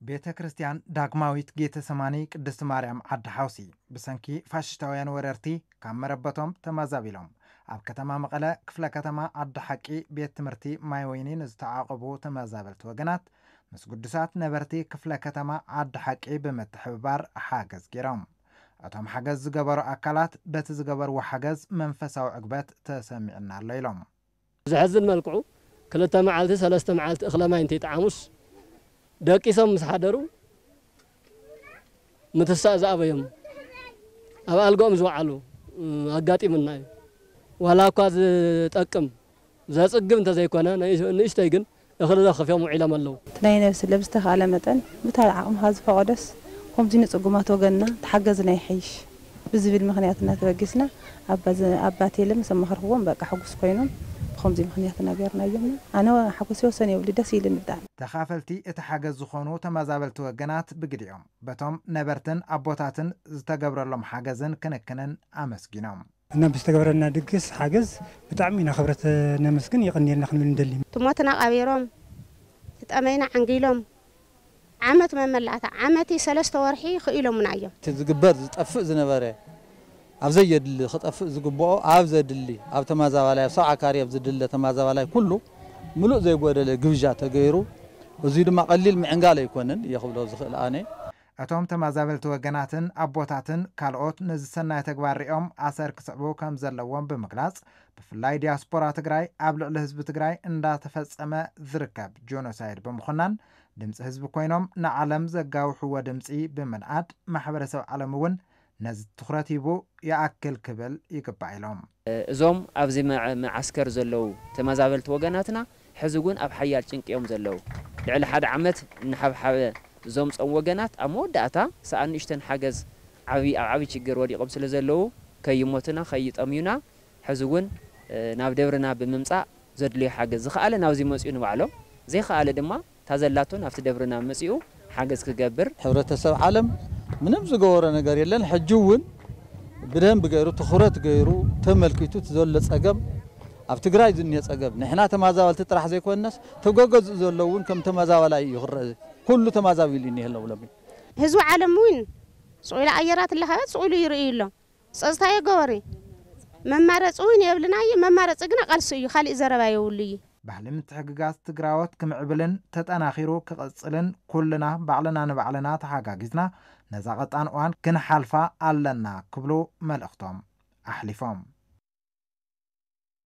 ቤተ ክርስቲያን ዳግማዊት ጌተሰማኒ ቅድስት ማርያም ዓዲ ሓውሲ ብሰንኪ ፋሽስታውያን ወረርቲ ካብ መረበቶም ተመዛቢሎም ኣብ ከተማ መቐለ ክፍለ ከተማ ዓዲ ሓቂ ቤት ትምህርቲ ማይ ወይኒ ንዝተዓቐቡ ተመዛበልቲ ወገናት ምስ ግዱሳት ነበርቲ ክፍለ ከተማ ዓዲ ሓቂ ብምትሕብባር ሓገዝ ገይሮም። እቶም ሓገዝ ዝገበሩ ኣካላት በቲ ዝገበርዎ ሓገዝ መንፈሳዊ ዕግበት ተሰሚዕና ኣሎ ኢሎም። ብዘሕዝን መልክዑ ክልተ መዓልቲ ሰለስተ መዓልቲ እኽለ ማይ እንተይጠዓሙስ ደቂሶም ምስ ሓደሩ ምትሳእ ዝኣበዮም ኣብ ኣልጋኦም ዝወዓሉ ኣጋጢሙና እዩ። ዋላ እኳ ዝጠቅም ዘፅግብ እንተዘይኮነ ንእሽተይ ግን እኽሊ ዘኽፍዮም ውዒሎም ኣለዉ። እቲ ናይ ነብሲ ለብ ዝተኻእለ መጠን ብታ ዓቕምኻ ዝፈቐዶስ ከምዚ ንፅጉማት ወገንና ተሓገዝና ይሐይሽ ብዝብል ምኽንያት እና ተበጊስና ኣባ ቴለ ምስ ኣማኸርክዎም በቃ ሕጉስ ኮይኖም ብኸምዚ ምኽንያት እና ገይርናዮም። ኣነ ሓጎሰይ ወሰን የብሉ ደስ ኢልኒ ብጣዕሚ። ተኻፈልቲ እቲ ሓገዝ ዝኾኑ ተመዛበልቲ ወገናት ብግዲኦም በቶም ነበርትን ኣቦታትን ዝተገብረሎም ሓገዝን ክንክንን ኣመስጊኖም። እና ብዝተገበረልና ድግስ ሓገዝ ብጣዕሚ ኢና ክብረት ነመስግን የቐንየልና ክንብል ንደሊ። ትሞትና ቀቢሮም ትጠመይና ዓንጊሎም ዓመት መመላእታ ዓመቲ ሰለስተ ወርሒ ክኢሎምና እዮም። እቲ ዝግበር ዝጠፍእ ዝነበረ ኣብ ዘየድሊ ክጠፍእ ዝግብኦ ኣብ ዘድሊ ኣብ ተማዛባላይ ኣብ ሰብዓ ካሬ ኣብ ዝድለ ተማዛባላይ ኩሉ ምሉእ ዘይጎደለ ግብዣ ተገይሩ እዙይ ድማ ቀሊል ምዕንጋል ኣይኮነን እየ ክብሎ ዝኽእል ኣነ። እቶም ተመዛበልቲ ወገናትን ኣቦታትን ካልኦት ነዚ ሰናይ ተግባር ሪኦም ኣሰር ክስዕቡ ከም ዘለዎም ብምግላፅ፣ ብፍላይ ዲያስፖራ ትግራይ ኣብ ልዕሊ ህዝቢ ትግራይ እንዳተፈፀመ ዝርከብ ጆኖሳይድ ብምኹናን ድምፂ ህዝቢ ኮይኖም ንዓለም ዘጋውሕዎ ድምፂ ብምንኣድ ማሕበረሰብ ዓለም እውን ነዚ ትኹረት ሂቡ ይኣክል ክብል ይግባእ ኢሎም። እዞም ኣብዚ መዓስከር ዘለዉ ተመዛበልቲ ወገናትና ሕዚ እውን ኣብ ሓያል ጭንቂ እዮም ዘለዉ። ልዕሊ ሓደ ዓመት እናሓብሓበ ዘምጾም ወገናት ኣብ መወዳእታ ሰኣን ንእሽተን ሓገዝ ዓቢ ኣብ ዓቢ ችግር ወዲቖም ስለ ዘለዉ ከይሞቱና ከይጠምዩና ሕዚ እውን ናብ ደብርና ብምምጻእ ዘድልዮ ሓገዝ ዝኸኣለ ናብዚ መጺኡ ንባዕሎም ዘይኸኣለ ድማ እታ ዘላቶ ናብቲ ደብርና መጺኡ ሓገዝ ክገብር። ሕብረተሰብ ዓለም ምንም ዝገበሮ ነገር የለን። ሕጂ እውን ብደንብ ገይሩ ትኹረት ገይሩ ተመልኪቱ እቲ ዘሎ ጸገም ኣብ ትግራይ ዝኒሀ ጸገም ንሕና ተማዛበልቲ ጥራሕ ዘይኮነስ ተገገዝኡ ዘሎ እውን ከም ተመዛባላይ እዩ ክረአ። ኩሉ ተማዛቢሉ እዩ እኒሀ ኣለዉ ሎሚ። ህዝቢ ዓለም እውን ስቕ ኢሉ ኣየራት ኣለኸበት ስቕ ኢሉ ይርእዩ ኣሎ። ጸጥታ የገበሪ መማረፂ እውን የብልና እዩ። መማረፂ ግና ቃልሲ እዩ። ካሊእ ዘረባ የብሉ እዩ። ባህሊ ምትሕግጋዝ ትግራዎት ክምዕብልን ተጠናኺሩ ክቕፅልን ኩልና ባዕልና ንባዕልና ተሓጋጊዝና ነዛ ቐጣን እዋን ክንሓልፋ ኣለና ክብሉ መልእኽቶም ኣሕሊፎም።